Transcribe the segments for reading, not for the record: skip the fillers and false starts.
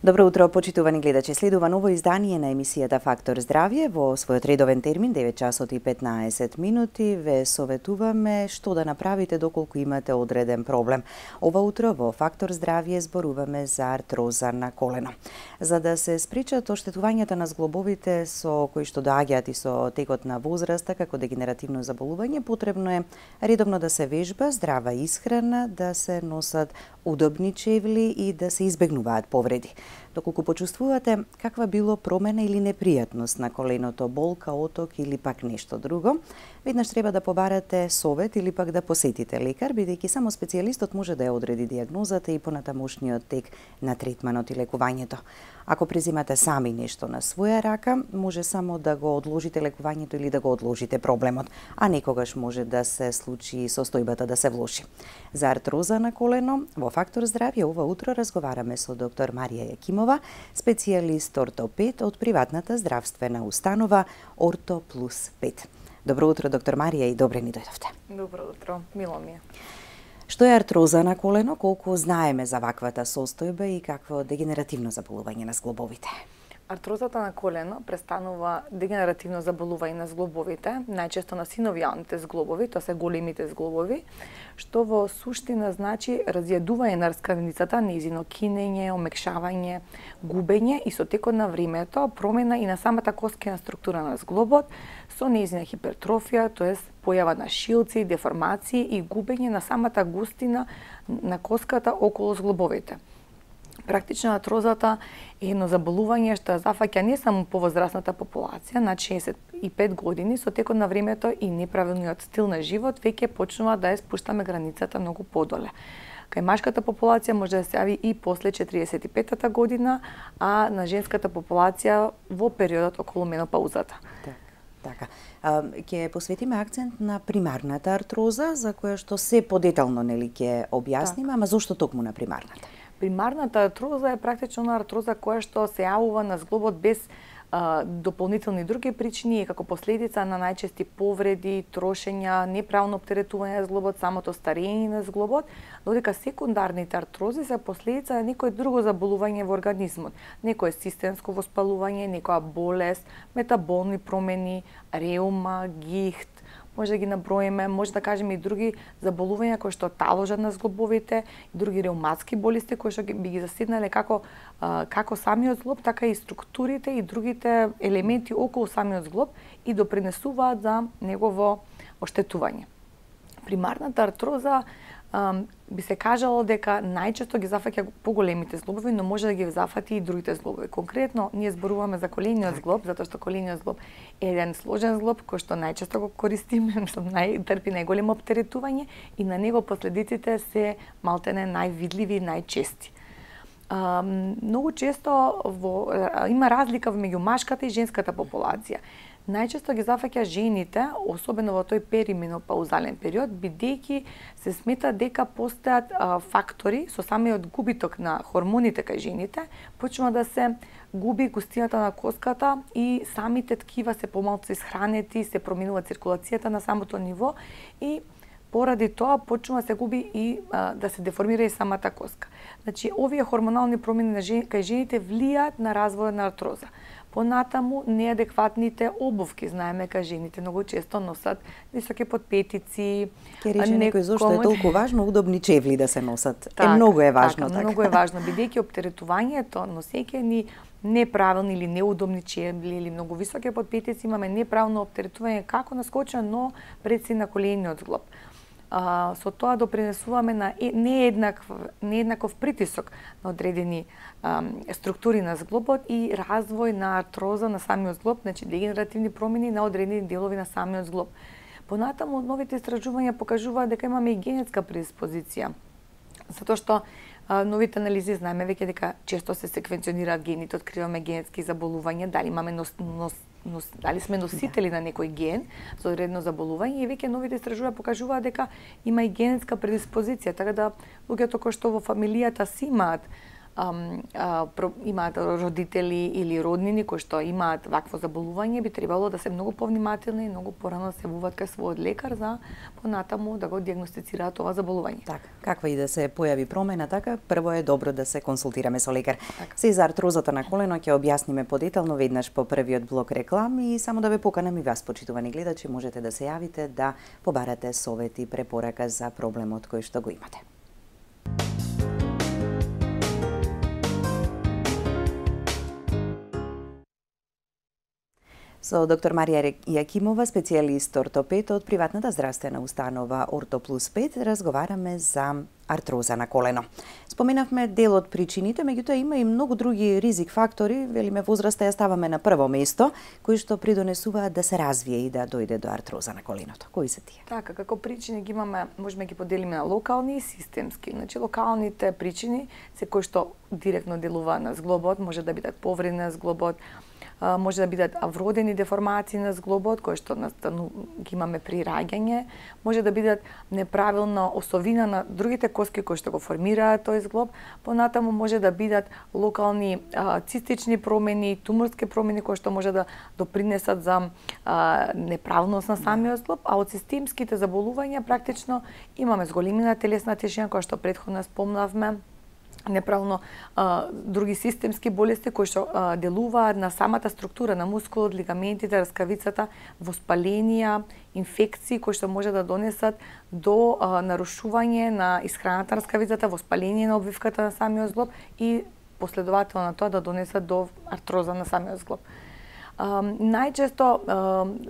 Добро утро, почитувани гледачи. Следува ново издание на емисијата Фактор здравје. Во својот редовен термин, 9 часот и 15 минути, ве советуваме што да направите доколку имате одреден проблем. Ова утро во Фактор здравје зборуваме за артроза на колено. За да се спречат оштетувањата на зглобовите со кои што доаѓаат и со текот на возраста како дегенеративно заболување, потребно е редовно да се вежба, здрава исхрана, да се носат удобни чевли и да се избегнуваат повреди. Доколку почувствувате каква било промена или непријатност на коленото, болка, оток или пак нешто друго, веднаш треба да побарате совет или пак да посетите лекар, бидејќи само специјалистот може да ја одреди дијагнозата и понатамошниот тек на третманот и лекувањето. Ако презимате сами нешто на своја рака, може само да го одложите лекувањето или да го одложите проблемот, а некогаш може да се случи состојбата да се влоши. За артроза на колено, во Фактор здравје ова утро разговараме со доктор Марија Јакимова, специјалист ортопед од приватната здравствена установа Орто Плюс 5. Добро утро, доктор Марија, и добре ни дојдовте. Добро утро, мило ми е. Што е артроза на колено, колку знаеме за ваквата состојба и какво дегенеративно заболување на зглобовите? Артрозата на колено престанува дегенеративно заболување на зглобовите, најчесто на синовијалните зглобови, тоа се големите зглобови, што во суштина значи разјадување на раскравницата, нејзино кинење, омекшавање, губење и со текот на времето промена и на самата коскена структура на зглобот, со нејзина хипертрофија, тоест појава на шилци, деформации и губење на самата густина на коската околу зглобовите. Практично артрозата е едно заболување што зафаќа не само повозрасната популација, на 65 години, со текот на времето и неправилниот стил на живот веќе почнува да ја спуштаме границата многу подоле. Кај машката популација може да се јави и после 45-та година, а на женската популација во периодот околу менопаузата. Така. Ќе посветиме акцент на примарната артроза, за која што се подетално нели ќе објасниме, ама зошто токму на примарната? Примарната артроза е практично артроза која што се јавува на зглобот без дополнителни други причини и како последица на најчести повреди, трошења, неправилно оптеретување на зглобот, самото старење на зглобот, додека секундарните артрози се последица на некој друго заболување во организмот, некое системско воспалување, некоја болест, метаболни промени, реума, гихт, може да ги наброиме, може да кажеме и други заболувања кои што таложат на зглобовите, и други реуматски болести кои што би ги заседнале како самиот зглоб, така и структурите и другите елементи околу самиот зглоб и допринесуваат за негово оштетување. Примарната артроза би се кажало дека најчесто ги зафаќа поголемите зглобови, но може да ги зафати и другите зглобови. Конкретно, ние зборуваме за колениот зглоб, затоа што колениот зглоб е еден сложен зглоб кој што најчесто го користиме, што трпи најголемо оптеретување и на него последиците се малтене највидливи и најчести. Многу често има разлика меѓу машката и женската популација. Најчесто ги зафаќа жените, особено во тој перименопаузален период, бидејќи се смета дека постојат фактори со самиот губиток на хормоните кај жените, почнува да се губи густината на коската и самите ткива се помалку исхранети, се променува циркулацијата на самото ниво и поради тоа почнува да се губи и да се деформира и самата коска. Значи, овие хормонални промени кај жените влијаат на развојот на артроза. Понатаму, неадекватните обувки, знаеме кај жените многу често носат високи подпетици. Ке рече некој зошто е толку важно удобни чевли да се носат. Многу е важно така. Многу е важно, бидејќи оптеретувањето, носејќи ни неправилни или неудобни чевли или многу високи подпетици, имаме неправилно оптеретување како на скочна, но предси на колениот зглоб. Со тоа допринесуваме на нееднаков притисок на одредени структури на зглобот и развој на артроза на самиот зглоб, значи дегенеративни промени на одредени делови на самиот зглоб. Понатаму, новите истражувања покажуваат дека имаме и генетска предиспозиција, затоа што новите анализи знаеме веќе дека често се секвенционираат гените, откриваме генетски заболувања, дали сме носители на некој ген за одредено заболување и веќе новите истражувања покажуваат дека има и генетска предиспозиција, така да луѓето кои што во фамилијата си имаат имаат родители или роднини кои што имаат вакво заболување, би требало да се многу повнимателни и многу порано се јавуваат кај својот лекар за понатаму да го дијагностицираат ова заболување. Така, каква и да се појави промена, така прво е добро да се консултираме со лекар. Така. Се за артрозата на колено ќе објасниме подетално веднаш по првиот блок реклами и само да ве поканам и вас, почитувани гледачи, можете да се јавите да побарате совети и препорака за проблемот кој што го имате. Со доктор Марија Јакимова, специјалист ортопед од приватната здравствена установа Ортоплус 5, разговараме за артроза на колено. Споменавме дел од причините, меѓутоа има и многу други ризик фактори, велиме возраста ја ставаме на прво место, кои што придонесуваат да се развие и да дојде до артроза на коленото. Кои се тие? Така, како причини ги имаме, можеме ги поделиме на локални и системски. Значи, локалните причини се кои што директно делува на зглобот, може да бидат повреди на зглобот, може да бидат вродени деформации на зглобот, кои што ги имаме при раѓање, може да бидат неправилна осовина на другите коски кои што го формираат тој зглоб, понатаму може да бидат локални цистични промени, туморски промени кои што може да допринесат за неправилност на самиот зглоб, а од системските заболувања практично имаме зголемена телесна тежина која што претходно спомнавме, неправилно други системски болести кои што делуваат на самата структура на мускулот, лигаментите, раскавицата, воспаленија, инфекции кои што може да донесат до нарушување на исхраната на раскавицата, воспаление на обвивката на самиот зглоб и последователно на тоа да донесат до артроза на самиот зглоб. Најчесто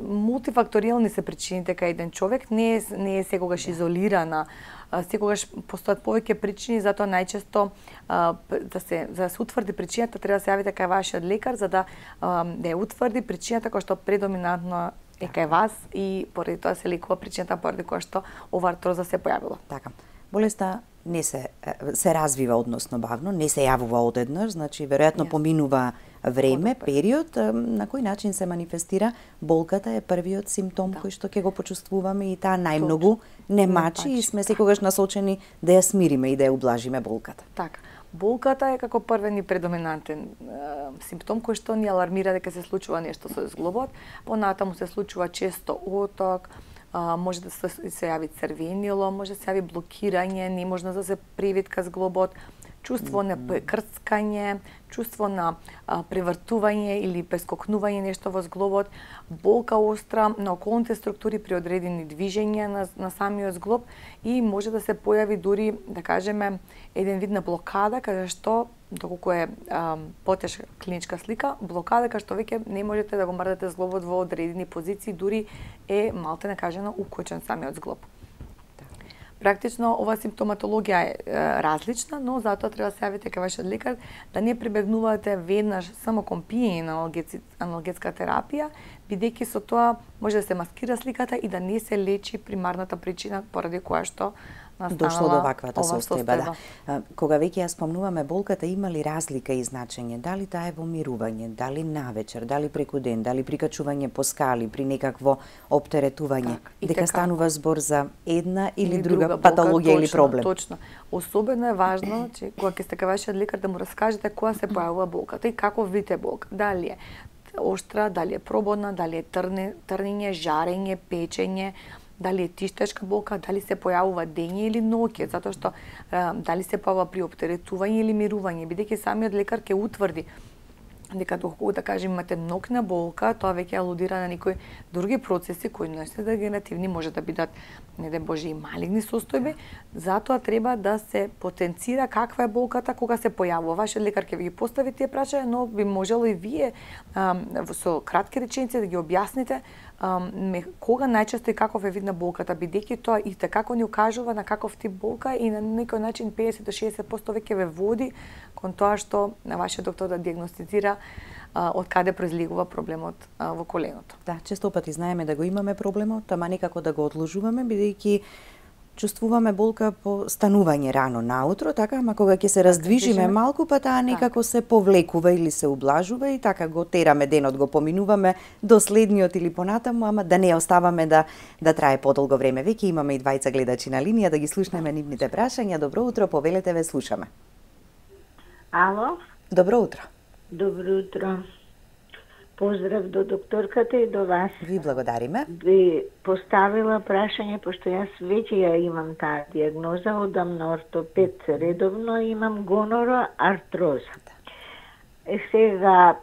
мултифакторијални се причините кај еден човек, не е секогаш изолирана, секогаш постојат повеќе причини, затоа најчесто за да се утврди причината треба да се јавите кај вашиот лекар за да ја утврди причината која што предоминантно е кај вас и поради тоа се лекува причината поради која што ова артроза се појавила. Така. Болеста не се развива односно бавно, не се јавува одеднаш, значи веројатно поминува време, период. На кој начин се манифестира болката е првиот симптом кој што ќе го почувствуваме и таа најмногу не мачи и сме секогаш насочени да ја смириме и да ја ублажиме болката. Така. Болката е како првен и предоминантен симптом кој што ни алармира дека се случува нешто со зглобот, понатаму се случува често оток, може да се јави црвенило, може да се јави блокирање, неможност да се привитка зглобот, чувство на крцкање, чувство на превртување или прескокнување нешто во зглобот, болка остра на околните структури при одредени движења на самиот зглоб и може да се појави дури, да кажеме, еден вид на блокада, каде што, доколку е потешка клиничка слика, блокада каде што веќе не можете да го мрдате зглобот во одредени позиции, дури е малте накажено укочен самиот зглоб. Практично ова симптоматологија е различна, но затоа треба да се јавите кај вашиот лекар да не прибегнувате веднаш само кон пиење на аналгетска терапија, бидејќи со тоа може да се маскира сликата и да не се лечи примарната причина поради која што дошло до ваквата состојба. Да. Кога веќе ја спомнуваме болката, има ли разлика и значење? Дали таа е во мирување, дали навечер, дали преку ден, дали прикачување по скали, при некакво оптеретување? Дека станува збор за една или друга патологија или проблем? Точно. Особено е важно, че кога ќе сте кај вашиот лекар да му раскажете која се појавува болката и каков вид е болка. Дали е оштра, дали е прободна, дали е трнење, жарење, печење, дали е тиштешка болка, дали се појавува дење или ноќе, затоа што дали се појавува при оптеретување или мирување, бидејќи самиот лекар ќе утврди дека доколку да кажем имате ноќна болка, тоа веќе алудира на некои други процеси кои не се дегенеративни, може да бидат не дај Боже и малигни состојби, затоа треба да се потенцира каква е болката кога се појавува. Вашиот лекар ќе ви ги постави тие прашања, но би можело и вие со кратки реченици да ги објасните кога најчесто и каков е вид на болката, бидејќи тоа и како ни укажува на каков тип болка и на некој начин 50 до 60% веќе ве води кон тоа што на вашиот доктор да дијагностицира од каде произлегува проблемот во коленото. Да, често пати знаеме да го имаме проблемот, ама некако да го одложуваме, бидејќи чувствуваме болка по станување рано наутро, така, ама кога ќе се раздвижиме малку, па таа некако се повлекува или се ублажува и така го тераме денот, го поминуваме до следниот или понатаму, ама да не оставаме да трае подолго време. Веќе имаме и двајца гледачи на линија, да ги слушнеме нивните прашања. Добро утро, повелете, ве слушаме. Ало? Добро утро. Добро утро. Поздрав до докторката и до вас. Ви благодариме. Би поставила прашање, пошто јас веќе ја имам таа диагноза, одам на ортопед редовно, имам гонороартроза. Сега,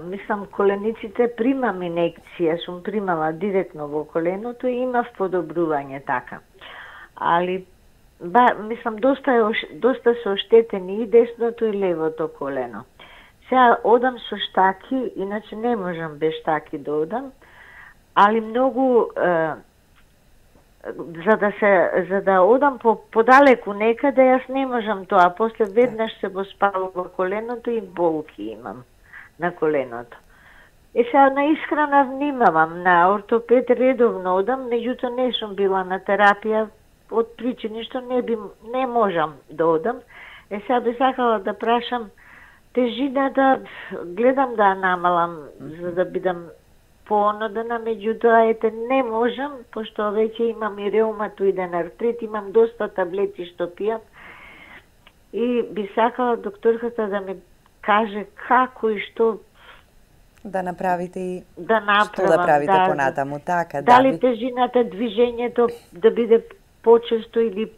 мислам, колениците примам инекција, сум примала директно во коленото и имав подобрување така. Али, мислам, доста се оштетени и десното и левото колено. Сега одам со штаки, иначе не можам без штаки да одам, али многу за да одам подалеку некаде, јас не можам тоа. После веднаш се го спалува коленото и болки имам на коленото. Сега на исхрана внимавам, на ортопед редовно одам, меѓутоа не сум била на терапија од причини што не можам да одам. Сега би сакала да прашам, тежината гледам да намалам за да бидам поонодена, меѓутоа не можам, пошто веќе имам и реуматоиден артрит, имам доста таблети што пијам и би сакала докторката да ми каже како и што да направите и што да правите понатаму, така. Дали тежината, движењето да биде почесто или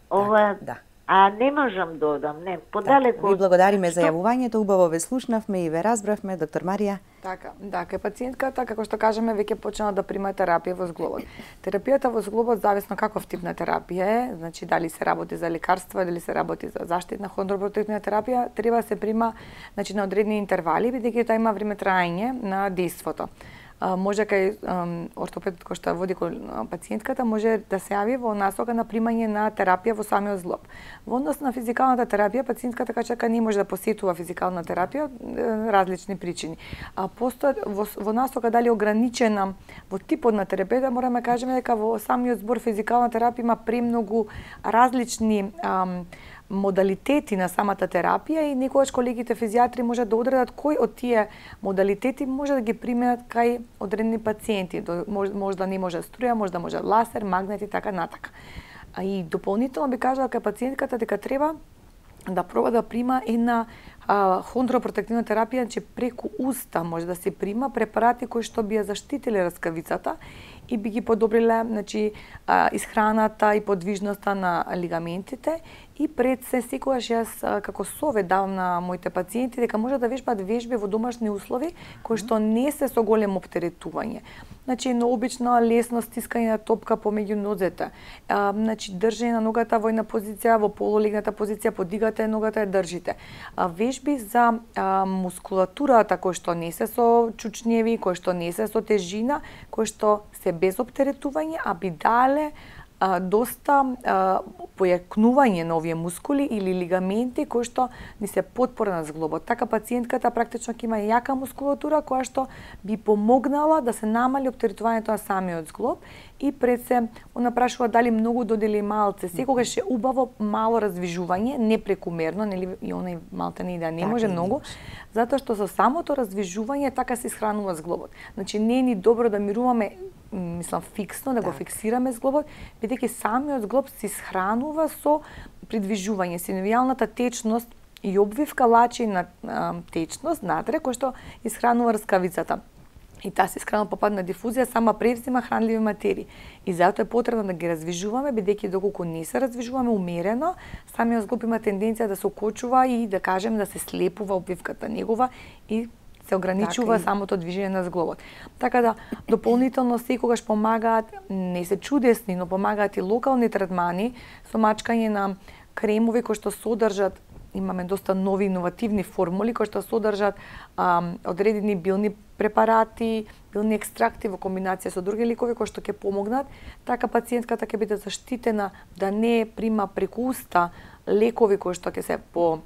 ова. Да. А не можам да одам, не, подалеку. Ви благодариме за јавувањето, убаво ве слушнавме и ве разбравме, доктор Марија. Така, кај пациентката, како што кажеме, веќе почнала да прима терапија во зглобот. Терапијата во зглобот зависно каков тип на терапија е, значи дали се работи за лекарства, дали се работи за заштитна хондропротективна терапија, треба да се прима значи на одредени интервали, бидејќи тоа има време траење на дејството. Може кај ортопедот кој што води пациентката може да се јави во насока на примање на терапија во самиот зглоб. Во однос на физикалната терапија, пациентката кај не може да посетува физикална терапија, различни причини. Постојат во насока дали ограничена во типот на терапија, мораме да кажеме дека во самиот збор физикална терапија има премногу различни модалитети на самата терапија и некогаш колегите физијатри може да одредат кој од тие модалитети може да ги применат кај одредени пациенти. Може да не може струја, може да може лазер, магнет и така натака. И дополнително би кажала кај пациентката дека треба да проба да прима една хондропротективна терапија, че преку уста може да се прима препарати кои што би ја заштитиле раскавицата и би ги подобриле значи исхраната и подвижноста на лигаментите. И пред се секогаш јас како совет давам на моите пациенти дека може да вежбаат вежби во домашни услови кои што не се со големо оптеретување. Значи едно обично лесно стискање на топка помеѓу нозете. Значи држење на ногата во една позиција, во полулегната позиција, подигате ногата и држите. Вежби за мускулатурата кои што не се со чучњеви, кои што не се со тежина, кои што се без оптеретување, а би дале доста појакнување на овие мускули или лигаменти кои што ни се потпора на зглобот. Така пациентката практично ќе има јака мускулатура која што би помогнала да се намали оптеретувањето на самиот зглоб и пред се она прашува дали многу додели малце. Секогаш е убаво мало раздвижување, не прекумерно, нели и онај малтене да не може многу, затоа што со самото раздвижување така се исхранува зглобот. Значи не е ни добро да мируваме мислам фиксно, да го фиксираме зглобот, бидејќи самиот зглоб се исхранува со придвижување. Синовијалната течност и обвивка лачи на течност надре, кој што исхранува раскавицата. И таа се исхранува по пат на дифузија, сама превзима хранливи материи. И затоа е потребно да ги раздвижуваме, бидејќи доколку не се раздвижуваме умерено, самиот зглоб има тенденција да се окочува и да кажем да се слепува обвивката негова и се ограничува самото движење на зглобот. Така да дополнително секогаш помагаат, не се чудесни, но помагаат и локални третмани со мачкање на кремови кои што содржат, имаме доста нови иновативни формули кои што содржат одредени билни препарати, билни екстракти во комбинација со други лекови кои што ќе помогнат, така пациентката ќе биде заштитена да не прима преку уста лекови кои што ќе се по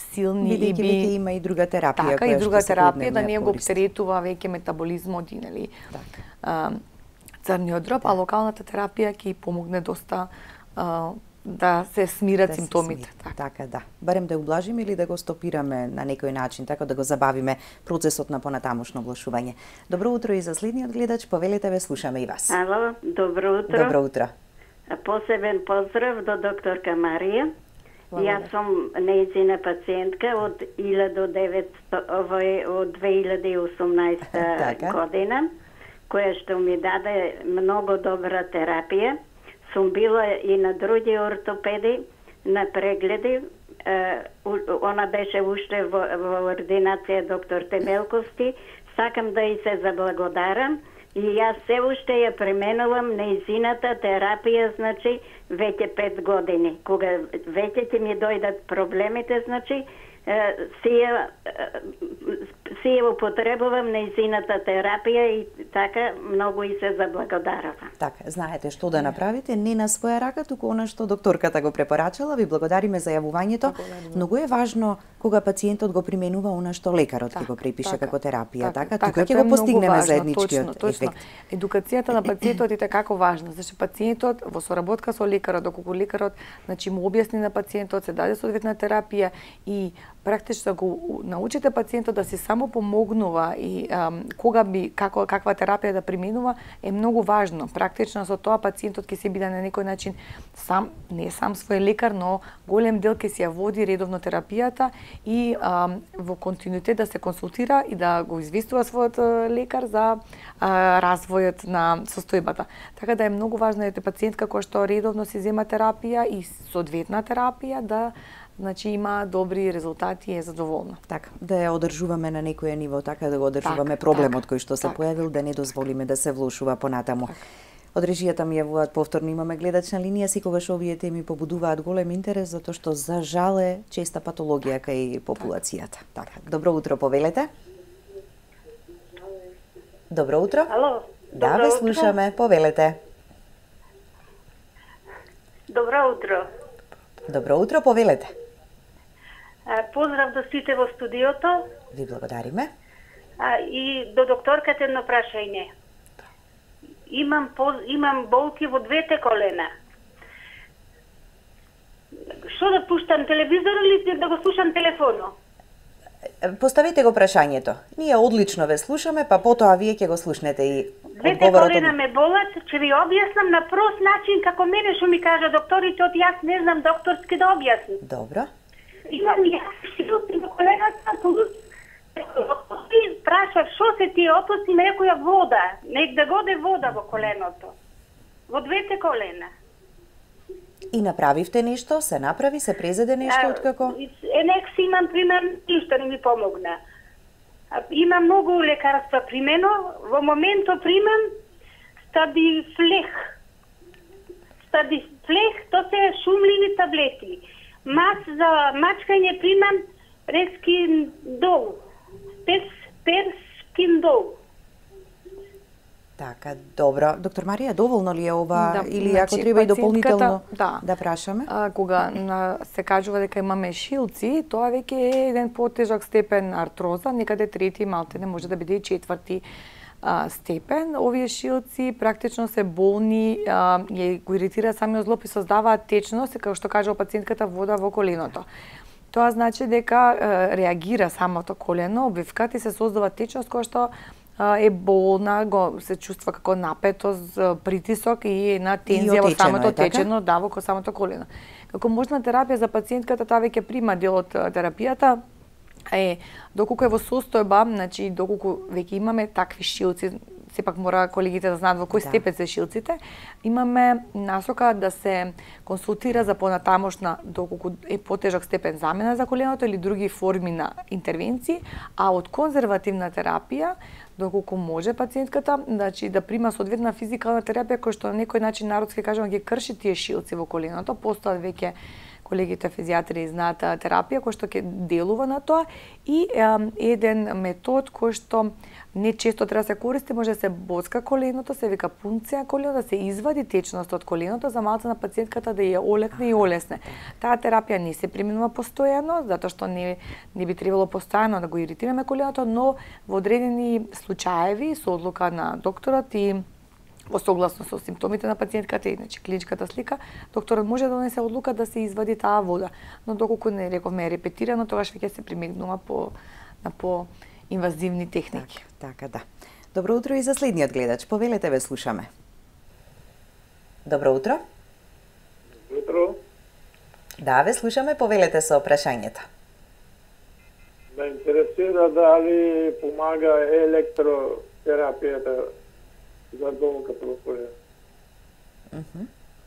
силни и би има и друга терапија така, и друга терапија да не го оптеретува веќе метаболизмот и нели црниот дроб, а локалната терапија ќе помогне доста да се смират симптомите. Така, да. Барем да ублажиме или да го стопираме на некој начин, така да го забавиме процесот на понатамошно оглашување. Добро утро и за следниот гледач, повелете, ве слушаме и вас. Ало, добро утро. Добро утро. Посебен поздрав до докторка Марија. Јас сум нејзина пациентка од 2018 година, која што ми даде многу добра терапија. Сум била и на други ортопеди, на прегледи. Она беше уште во ординација доктор Темелковски. Сакам да и се заблагодарам. И јас се уште ја пременувам нејзината терапија, значи, веќе 5 години. Кога веќе ќе ми дојдат проблемите, значи, си ја употребувам нејзината терапија и така многу и се заблагодаравам. Така, знаете што да направите, не на своја рака, туку она што докторката го препорачала. Ви благодариме за јавувањето. Многу е важно кога пациентот го применува она што лекарот ќе го препише како терапија, така? Тука ќе го постигнеме заедничкиот ефект. Едукацијата на пациентот е како важна, значи пациентот во соработка со лекарот, доколку лекарот значи му објасни на пациентот, се даде соодветна терапија и практично го научите пациентот да се само помогнува и кога би каква терапија да применува е многу важно. Практично со тоа пациентот ќе се биде на некој начин не сам свој лекар, но голем дел ќе се ја води редовно терапијата и во континуитет да се консултира и да го известува својот лекар за развојот на состојбата. Така да е многу важно ете пациентка која што редовно се зема терапија и соодветна терапија да значи има добри резултати и е задоволна. Така, да ја одржуваме на некој ниво, така да го одржуваме проблемот кој што се појавил, да не дозволиме да се влошува понатаму. Од режијата ми јавуваат повторно, имаме гледачна линија, секогаш овие теми побудуваат голем интерес затоа што за жал е честа патологија кај популацијата. Така, добро утро, повелете. Добро утро. Ало. Да, ве слушаме, повелете. Добро утро. Добро утро, повелете. Поздрав до сите во студиото. Ви благодариме. И до докторката едно прашање. Имам болки во двете колена. Што да пуштам, телевизор или да го слушам телефоно? Поставете го прашањето. Ние одлично ве слушаме, па потоа вие ќе го слушнете и двете колена ме болат, ќе ви објаснам на прост начин како мене што ми кажа докторите, од јас не знам докторски да објаснам. Добро. Имам јас шилци на колената, и прашав што се ти опусти некоја вода, нек да годе вода во коленото. Во двете колена. И направивте нешто, се направи, се презеде нешто откако? Нек си имам пример, ништо не ми помогна. Имам многу лекарства примено, во моментот примам Стабифлех. Стабифлех, тоа се шумливи таблети. Мас за мачкање примам Рескиндол. Перскиндол. Така, добро. Доктор Марија, доволно ли е ова или значи, ако треба и дополнително да прашаме? Кога се кажува дека имаме шилци, тоа веќе е еден потежок степен артроза, некаде трети, малтене може да биде и четврти степен. Овие шилци практично се болни, ја го иритира самиот зглоб и создаваат течност, како што кажува пациентката, вода во коленото. Тоа значи дека реагира самото колено, обвивката и се создава течност која што е болна, се чувства како напетост, притисок и една тензија во самото течено, да, во самото колено. Како можна терапија за пациентката, таа веќе прима дел од терапијата, доколку е во состојба, значи доколку веќе имаме такви шилци, сепак мора колегите да знаат во кој степен се шилците, имаме насока да се консултира за понатамошна, доколку е потежок степен, замена за коленото или други форми на интервенции, а од конзервативна терапија, доколку може пациентката, значи да прима соодветна физикална терапија која што на некој начин народски кажувам ги крши тие шилци во коленото, постојат веќе колегите физијатри знаат терапија која што ќе делува на тоа и еден метод кој што не често треба да се користи, може да се боцка коленото, се вика пункција колено, да се извади течност од коленото за малку на пациентката да ја олекне и олесне. Таа терапија не се применува постојано, затоа што не би требало постојано да го иритираме коленото, но во одредени случаеви со одлука на докторот и во согласно со симптомите на пациентката и значи клиничката слика, докторот може да донесе одлука да се извади таа вода, но доколку не рековме репетирано, тогаш веќе се примегнува по инвазивни техники. Така, да. Добро утро и за следниот гледач. Повелете, ве слушаме. Добро утро. Утро. Да, ве слушаме, повелете со прашањето. Ме интересира дали помага електротерапијата за болката во колено.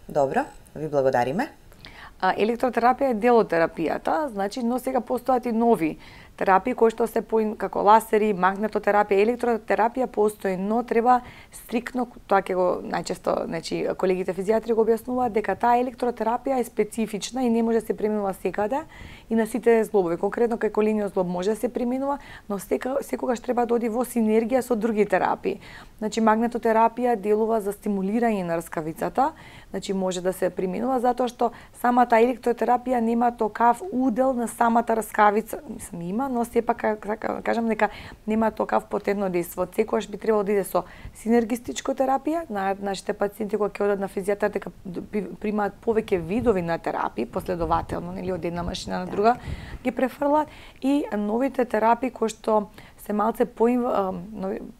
Добро, ви благодариме. Електротерапија е дел од терапијата, значи, но сега постојат и нови терапии кои што се како ласери, магнетотерапија, електротерапија постои, но треба стриктно, тоа ќе го најчесто, значи колегите физијатри го објаснуваат дека таа електротерапија е специфична и не може да се применува секаде и на сите зглобови. Конкретно кај колениот зглоб може да се применува, но секогаш треба да оди во синергија со други терапии. Значи магнетотерапија делува за стимулирање на рскавицата, значи може да се применува затоа што самата електротерапија нема токав удел на самата рскавица, мислам има, но сепак кажам дека нема токав потентно дејство. Секогаш би требало да иде со синергистичко терапија. Нашите пациенти кога ќе одат на физијатар дека примаат повеќе видови на терапии последователно, нели од една машина на друга ги префрлат, и новите терапии кои што се малце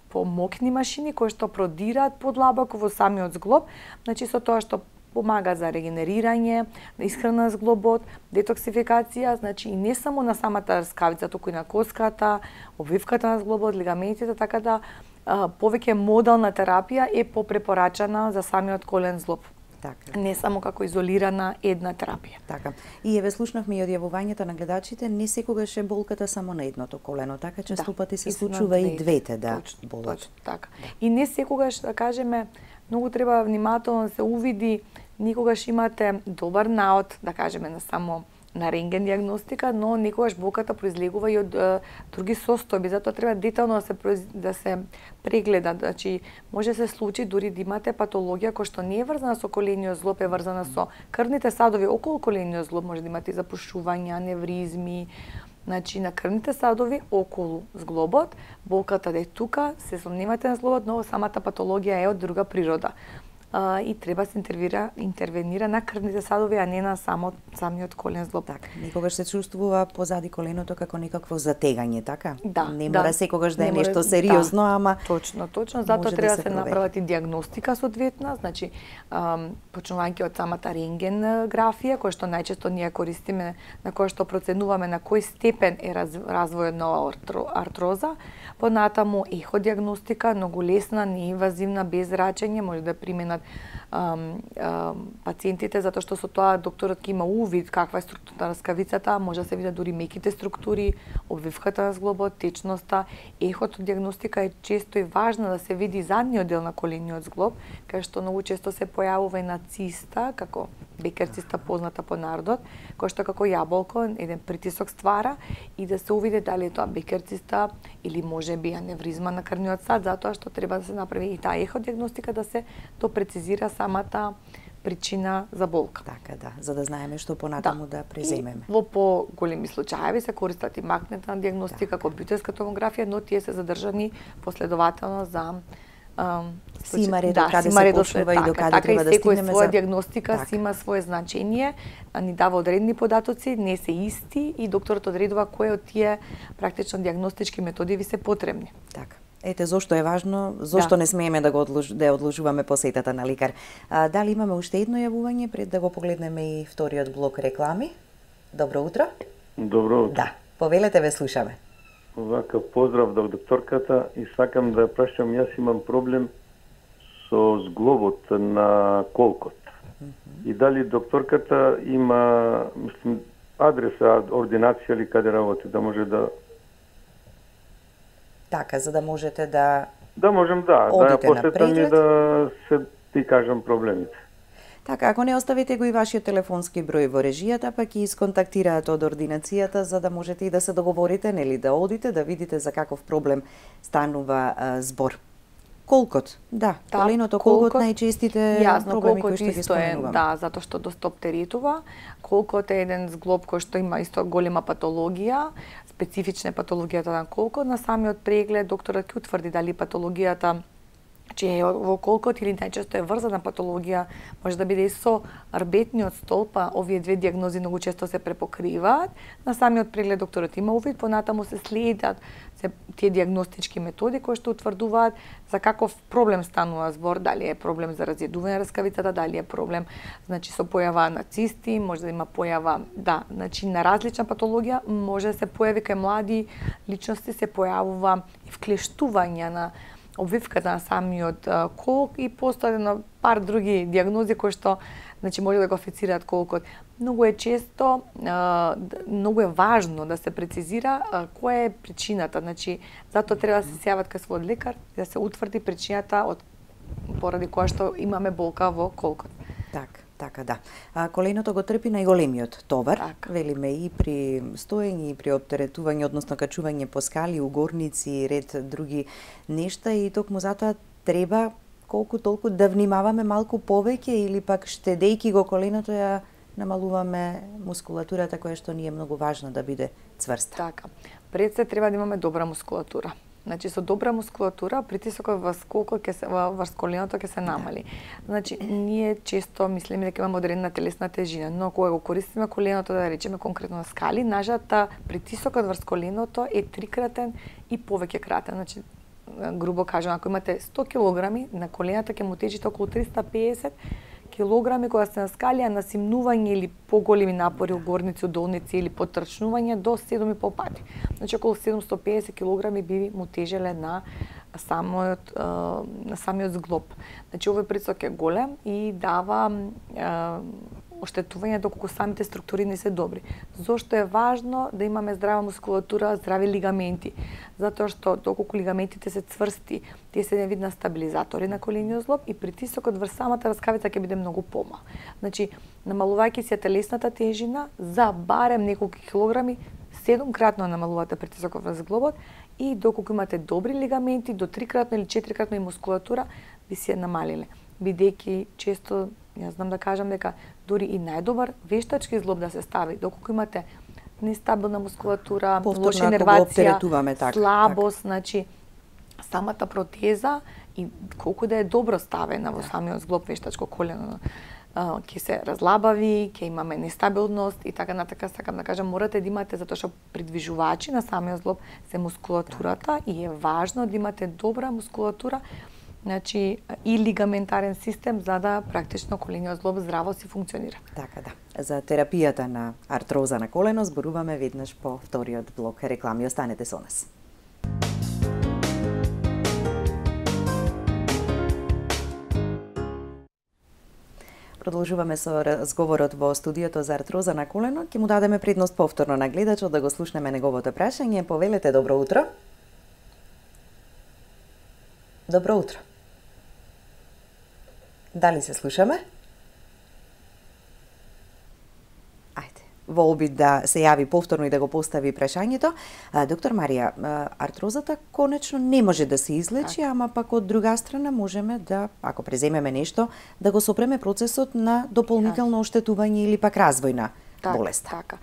помокни машини кои што продираат подлабоко во самиот зглоб, значи со тоа што помага за регенерирање, исхрана зглобот, детоксификација, значи и не само на самата рскавица, туку и на коската, обвивката на зглобот, лигаментите, така да повеќе модална терапија е попрепорачана за самиот колен зглоб. Така. Не само како изолирана една терапија. Така. И еве слушнавме и од јавувањата на гледачите, не секогаш е болката само на едното колено, така често пати се случува и двете да болат. Точно, така. И не секогаш, да кажеме, многу треба внимателно да се увиди, никогаш имате добар наод, да кажеме, на само на рентген диагностика, но некогаш болката произлегува и од други состојби, затоа треба детално да се прегледа. Значи, може да се случи дури да имате патологија која што не е врзана со колениот зглоб, е врзана со крвните садови околу колениот зглоб, може да имате запушувања, аневризми, значи на крвните садови околу зглобот, болката да е тука, се сомневате на зглобот, но самата патологија е од друга природа. И треба се интервенира на крвните садови, а не на самиот колен зглоб. Така, некогаш се чувствува позади коленото како некакво затегање, така? Да, не мора секогаш да е нешто сериозно, ама точно, затоа треба да се направат и диагностика соодветна, значи почнувајќи од самата рентгенграфија, која што најчесто ние користиме, на која што проценуваме на кој степен е развојот на артроза, понатаму еходиагностика, многу лесна, неинвазивна, без зрачење, може да применат пациентите, затоа што со тоа докторот ќе има увид каква е структура на рскавицата, може да се видат дури меките структури, обвивката на зглобот, течноста. Еходиагностика е често и важна да се види задниот дел на колениот зглоб, кај што многу често се појавува и на циста, како Бекер циста позната по народот, кој што како јаболко еден притисок ствара и да се увиде дали е тоа Бекер циста или можеби аневризма на крвниот сад, затоа што треба да се направи и таа еходиагностика, да се то прецизира самата причина за болка. Така, да, за да знаеме што понатаму да преземеме. И во поголеми случаи се користат и магнетна диагностика, компјутерска томографија, но тие се задржани последователно за си има ред каде се почнува и до каде треба да стигнеме. Така, своја диагностика си има свое значење, ни дава одредени податоци, не се исти и докторот одредува кои од тие практично диагностички методи ви се потребни. Така. Ете зошто е важно, зошто не смееме да одложуваме посетата на лекар. Дали имаме уште едно јавување пред да го погледнеме и вториот блок реклами? Добро утро. Добро утро. Да, повелете, ве слушаме. Вака, поздрав до докторката и сакам да ја прашам, јас имам проблем со зглобот на колкот. И дали докторката има, мислим, адреса, ординација или каде работи, да може да... Така, за да можете да... Да можем, да ја посетам и да се ти кажам проблемите. Така, ако не оставите го и вашиот телефонски број во режијата, па ќе исконтактираат од ординацијата за да можете и да се договорите, нели да одите, да видите за каков проблем станува збор. Колкот, да, коленото колкот најчестите проблеми кои што ги споменуваме. Да, затоа што доста оптеретува. Колкот е еден зглоб кој што има исто голема патологија, специфична патологијата на колкот. На самиот преглед докторот ќе утврди дали патологијата че во колкот или најчесто е врзана патологија, може да биде и со рбетниот столб, а овие две дијагнози многу често се препокриваат. На самиот преглед докторот има увид, понатаму се следат тие дијагностички методи кои што утврдуваат за каков проблем станува збор, дали е проблем за разједување раскавицата, дали е проблем со појава на цисти, може да има појава, на различна патологија, може да се појави кај млади личности, се појавува и вклештување на обвивката на самиот колк и постојано пар други дијагнози кои што може да го афицираат колкот. Многу е често, многу е важно да се прецизира која е причината. Затоа треба да се сјават кај својот лекар и да се утврди причината поради која што имаме болка во колкот. Така да. Коленото го трпи најголемиот товар, велиме и при стоење и при оптеретување, односно качување по скали, угорници и ред други нешта и токму затоа треба колку толку да внимаваме малку повеќе или пак штедејќи го коленото ја намалуваме мускулатурата која што ни е многу важно да биде цврста. Така. Пред се треба да имаме добра мускулатура. Со добра мускулатура притисокот врз коленото ќе се намали. Ние често мислиме дека имаме одредена телесна тежина, но кога го користиме коленото, да речеме конкретно на скали, нажата притисокот врз коленото е 3-кратен и повеќе кратен. Грубо кажам, ако имате 100 килограми, на колената ќе му тежите околу 350 килограми кога сте на скали, а на симнување или поголеми напори, угорници, удолници или потрчнување до 7,5 пати. Околу 750 килограми би му тежеле на самиот зглоб. Овој притисок е голем и дава оштетување доколку самите структури не се добри. Зошто е важно да имаме здрава мускулатура, здрави лигаменти? Затоа што доколку лигаментите се цврсти, тие се еден вид на стабилизатори на колениот зглоб и притисокот врз самата раскавица ќе биде многу помал. Намалувајќи се телесната тежина за барем неколку килограми, 7-кратно намалувате притисокот врз зглобот и доколку имате добри лигаменти, до 3-кратно или 4-кратно и мускулатура, би се намалиле. Бидејќи често, јас знам да кажам дека дури и најдобар вештачки зглоб да се стави, доколку имате нестабилна мускулатура, лоша инервација, слабост, самата протеза и колку да е добро ставена во самиот зглоб вештачко колено, ќе се разлабави, ќе имаме нестабилност и така натака, сакам да кажам, морате да имате, затоа што придвижувачи на самиот зглоб се мускулатурата и е важно да имате добра мускулатура, и лигаментарен систем за да практично колениот зглоб здраво си функционира. Така да. За терапијата на артроза на колено зборуваме веднаш по вториот блок реклами. Останете со нас. Продолжуваме со разговорот во студиото за артроза на колено. Ќе му дадеме предност повторно на гледачот да го слушнеме неговото прашање. Повелете, добро утро. Добро утро. Дали се слушаме? Ајде, во обид да се јави повторно и да го постави прашањето. Доктор Марија, артрозата конечно не може да се излечи, ама пак од друга страна можеме да, ако преземеме нешто, да го сопреме процесот на дополнително оштетување или пак развојна болест. Така.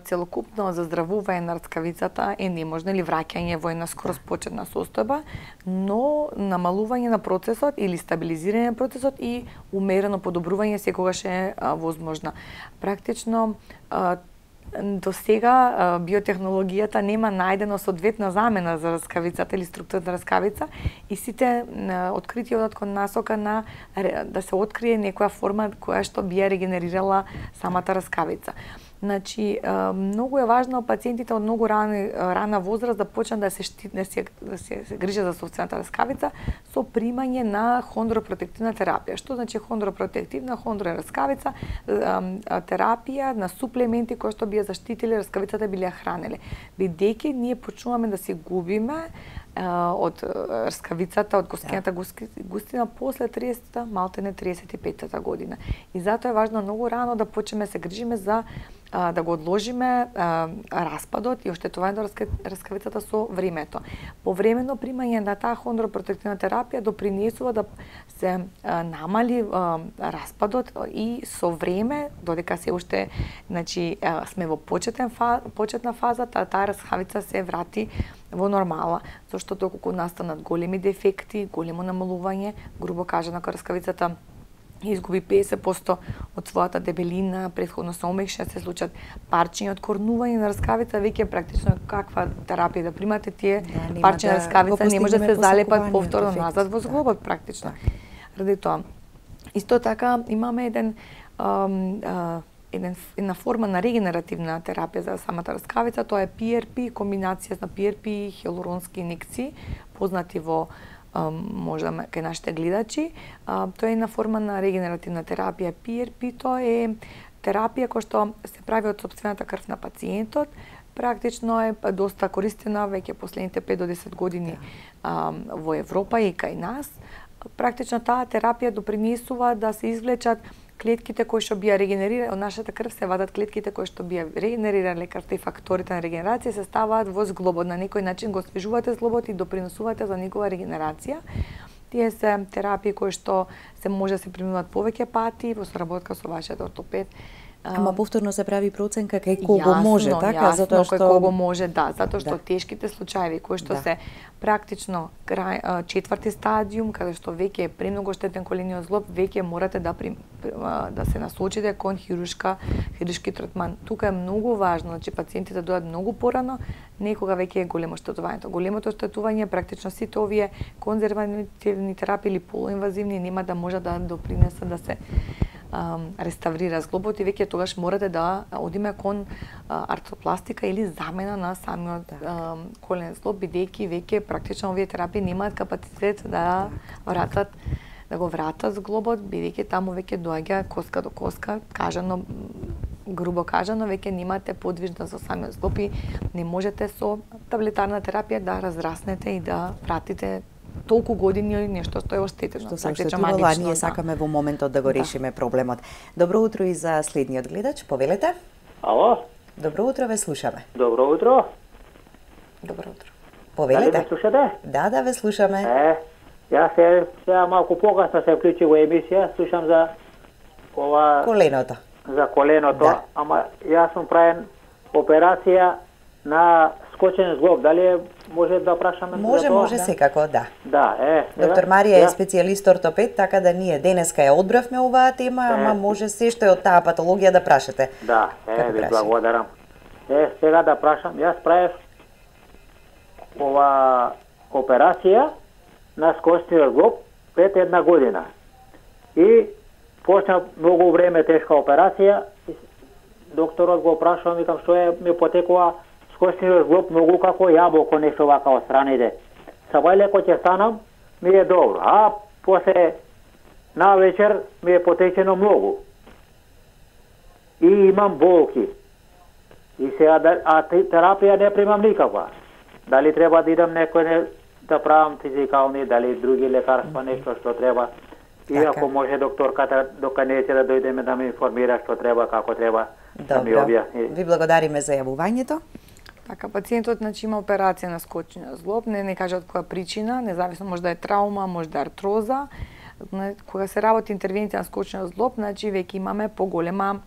Целокупно заздравување на раскавицата е неможно или враќање во една скроз почетна состојба, но намалување на процесот или стабилизирање на процесот и умерено подобрување секогаш е возможна. Практично до сега биотехнологијата нема најдено соодветна замена за раскавицата или структурата на раскавица и сите откритија одат кон насока на да се открие некоја форма која што би ја регенерирала самата раскавица. Многу е важно пациентите од многу рана возраст да почнат да се грижат за сопствената раскавица со примање на хондропротективна терапија. Што значи хондропротективна? Хондро е раскавица, терапија на суплементи кои што би ја заштитиле раскавицата, би ја хранеле. Бидејќи ние почнуваме да се губиме од раскавицата, од коскената густина после 30-та, малтене 35-та година. И затоа е важно многу рано да почнеме се грижиме за да го одложиме распадот и оштетувањето на раскавицата со времето. Повремено примање на таа хондропротективна терапија допринесува да се намали распадот и со време, додека се уште сме во почетна фаза, таа раскавица се врати во нормала, зашто доколку настанат големи дефекти, големо намалување, грубо кажано, кога раскавицата изгуби 50% од својата дебелина, претходно се омекша, се случат парчиња од корнување на раскавица, веќе практично каква терапија да примате, тие парчиња на раскавица не може да се залепат повторно назад во зглобот практично. Ради тоа. Исто така имаме една форма на регенеративна терапија за самата раскавица, тоа е PRP, комбинација на PRP и хиалуронски инекции, познати во можда кај нашите гледачи. Тоа е една форма на регенеративна терапија. PRP тоа е терапија која што се прави од сопствената крв на пациентот. Практично е доста користена веќе последните 5 до 10 години во Европа и кај нас. Практично таа терапија допринесува да се извлечат клетките кои што бија регенерирани од нашата крв, се вадат клетките кои што бија регенерирани лекарите и факторите на регенерација се ставаат во зглобот. На некој начин го освежувате зглобот и допринесувате за негова регенерација. Тие се терапии кои што се може да се применуваат повеќе пати во соработка со вашиот ортопед. Ама повторно се прави проценка кај кого може, така? Затоа што кај кого може, затоа што тешките случаи кои што се практично четврти стадиум, каде што веќе е премногу штетен колениот зглоб, веќе морате да се насочите кон хируршки третман. Тука е многу важно, пациентите дојдат многу порано, некога веќе е големо штетувањето. Големото штетување практично сите овие конзервативни терапии или полуинвазивни нема да може да допринесат да се реставрира зглобот и веќе тогаш морате да одиме кон артропластика или замена на самиот коленен зглоб, бидејќи веќе практично овие терапии немаат капацитет да го вратат зглобот, бидејќи таму веќе доаѓа коска до коска, грубо кажано, веќе немате подвижност со самиот зглоб и не можете со таблетарна терапија да разраснете и да вратите толку години нешто што е оштетено. Што се оштетувало, а ние сакаме во моментот да го решиме проблемот. Добро утро и за следниот гледач, повелете. Ало? Добро утро, ве слушаме. Добро утро. Добро утро. Повелете. Дали ме слушате? Да, ве слушаме. Јас сега малку покасно се вклучи во емисија, слушам за ова коленото. За коленото, ама јас сум правен операција на скочен зглоб. Дали може да прашаме за тоа? Може секако, да. Доктор Марија е специјалист ортопед, така да ние денеска ја одбравме оваа тема, ама може се што е од таа патологија да прашате. Да, ви благодарам. Сега да прашам, јас правев ова операција на скочниот зглоб пред една година. И почна многу време тешка операција. Докторот го прашува, викам што е, ми потекува скочниот зглоб многу како јаболко, нешто вака од страните. Сабај леко ќе станам, ми е добро. А после на вечер ми е потечено многу. И имам болки. И сега терапија не примам никаква. Дали треба да идам некој да правам физикални, дали други лекарства, нешто што треба. И ако може докторката дока не ќе да дојдеме да ме информира што треба, како треба, да ми објасни. Ви благодариме за јавувањето. Така, пациентот има операција на скочниот зглоб, не каже од која причина, независно може да е траума, може да е артроза. Кога се работи интервенција на скочниот зглоб, веќе имаме поголема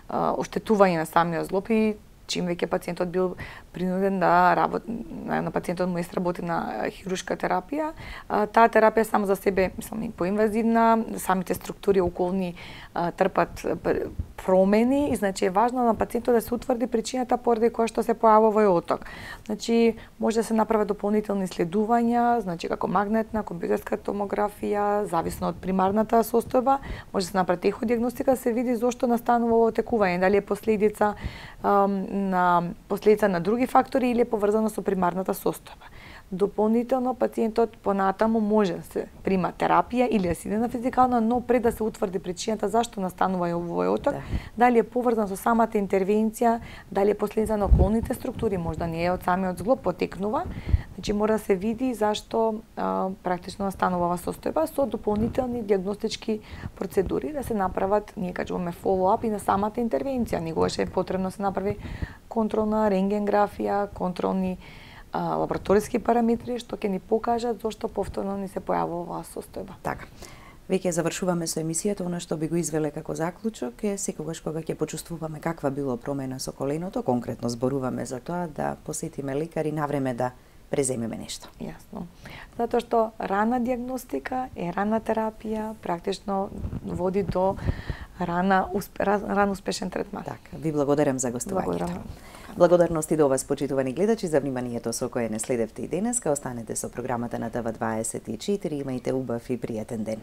оштетување на самиот зглоб и чим веќе пациентот бил принуден да работи, на пациентот му работи на хируршка терапија, таа терапија само за себе, мислам, поинвазивна, самите структури околни трпат промени и значи е важно на пациентот да се утврди причината поради која што се појавува овој оток. Значи може да се направат дополнителни исследувања, значи како магнетна, компјутерска томографија, зависно од примарната состојба, може да се направи еходиагностика, се види зошто настанува ово отекување, дали е последица на други фактори или е поврзано со примарната состојба. Дополнително пациентот понатаму може да се прима терапија или да се иде на физикална, но пред да се утврди причината зашто настанува овој оток, дали е поврзан со самата интервенција, дали е последица на околните структури, можда не е од самиот зглоб потекнува, значи мора да се види зашто практично настанува оваа состојба со дополнителни дијагностички процедури да се направат, ние кажуваме follow-up и на самата интервенција. Негогаш е потребно да се направи контролна рентгенграфија, контролни лабораториски параметри што ќе ни покажат зошто повторно ни се појавува оваа состојба. Така. Веќе завршуваме со емисијата, она што би го извеле како заклучок е секогаш кога ќе почувствуваме каква било промена со коленото, конкретно зборуваме за тоа да посетиме лекар и навреме да преземеме нешто. Јасно. Затоа што рана дијагностика и рана терапија практично води до рано успешен третман. Така, ви благодарам за гостувањето. Благодарам. Благодарности до вас, почитувани гледачи, за вниманието со кое не следевте и денеска. Останете со програмата на ТВ24, имајте убав и пријатен ден.